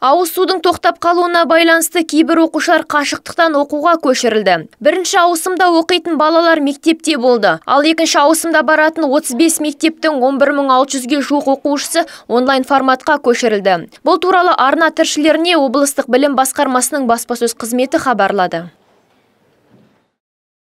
Ауыз судың тоқтап қалуына байланысты кейбір оқушылар қашықтықтан оқуға көшірілді. Бірінші ауысымда оқитын балалар мектепте болды. Ал екінші ауысымда баратын 35 мектептің 11600-ге жуық оқушысы онлайн форматқа көшірілді. Бұл туралы арна тілшілеріне облыстық білім басқармасының баспасөз қызметі хабарлады.